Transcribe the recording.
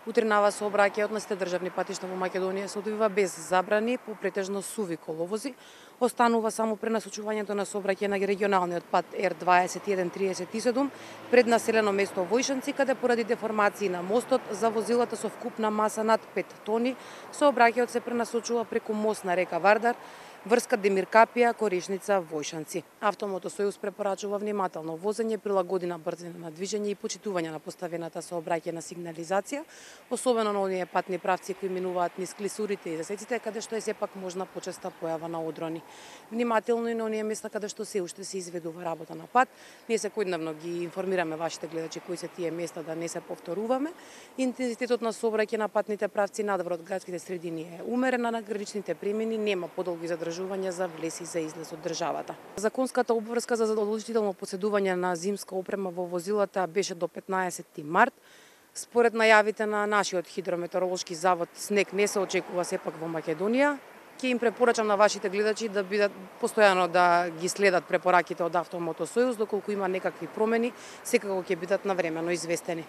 Утринава сообраќајот на сите државни патишта во Македонија се одвива без забрани по претежно суви коловози. Останува само пренасочувањето на сообраќај на регионалниот пат Р2137 пред населено место Војшанци, каде поради деформации на мостот за возилата со вкупна маса над 5 тони, сообраќајот се пренасочува преку мост на река Вардар, врска Демир Капија, Корешница, Војшанци. Автомотосојуз препорачува внимателно возење, прилагодена брзина на движење и почитување на поставената сообраќајна сигнализација, особено на оние патни правци кои минуваат низ клисурите и засеците, каде што е сепак можна почеста појава на одрони. Внимателно и на оние места каде што се уште се изведува работа на пат. Ние секојдневно ги информираме вашите гледачи кои се тие места да не се повторуваме. Интензитетот на сообраќај на патните правци надвор од градските средини е умерен, а на граничните премини нема подолги задржувања за влез и за излез од државата. Законската обврска за задолжително поседување на зимска опрема во возилата беше до 15 март. Според најавите на нашиот хидрометеоролошки завод, снег не се очекува сепак во Македонија. Ќе им препорачам на вашите гледачи да бидат постојано да ги следат препораките од Автомотосојуз, доколку има некакви промени, секако ќе бидат навремено известени.